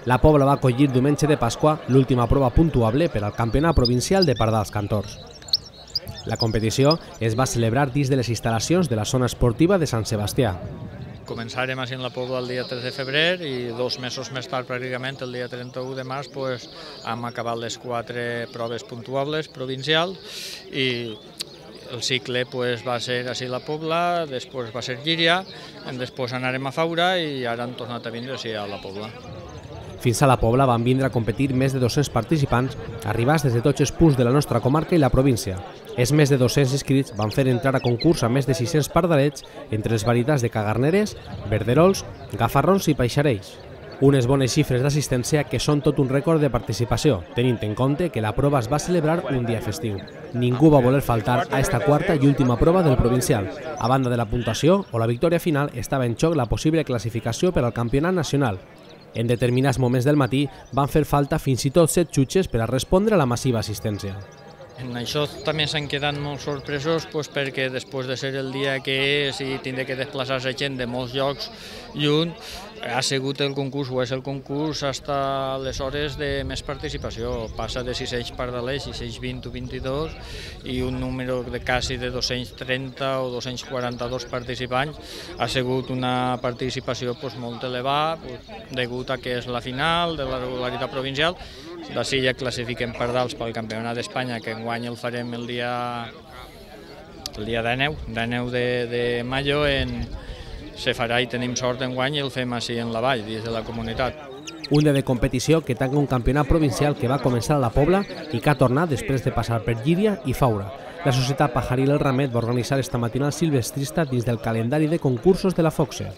La Pobla va acollir diumenge de Pasqua l'última prova puntuable per al Campionat Provincial de Pardals Cantors. La competició es va celebrar dins de les instal·lacions de la zona esportiva de Sant Sebastià. Començarem així en la Pobla el dia 3 de febrer i 2 mesos més tard, pràcticament, el dia 31 de març, hem acabat les 4 proves puntuables provincials i el cicle va ser així la Pobla, després va ser Llíria, després anarem a Faura i ara hem tornat a vindre així a la Pobla. Fins a la Pobla van vindre a competir més de 200 participants arribats des de tots els punts de la nostra comarca i la província. Els més de 200 inscrits van fer entrar a concurs a més de 600 pardalets entre les varietats de cagarneres, verderols, gafarrons i paixarells. Unes bones xifres d'assistència que són tot un rècord de participació, tenint en compte que la prova es va celebrar un dia festiu. Ningú va voler faltar a esta quarta i última prova del provincial. A banda de la puntuació o la victòria final, estava en xoc la possible classificació per al campionat nacional. En determinats moments del matí van fer falta fins i tot 7 xutxes per a respondre a la massiva assistència. En això també s'han quedat molt sorpresos perquè després de ser el dia que és i tindre que desplaçar-se gent de molts llocs lluny, ha sigut el concurs o és el concurs fins a les hores de més participació. Passa de 600 pardalers, 620 o 22 i un número de quasi de 230 o 242 participants. Ha sigut una participació molt elevada degut a que és la final de la regularitat provincial. D'ací ja classifiquem pardals pel Campionat d'Espanya, que enguany el farem el dia 19 de maio, se farà i tenim sort enguany i el fem així en la vall, dins de la comunitat. Un dia de competició que tanca un campionat provincial que va començar a la Pobla i que ha tornat després de passar per Llíria i Faura. La Societat Pajaril El Ramet va organitzar esta matinal silvestrista dins del calendari de concursos de la Foxe.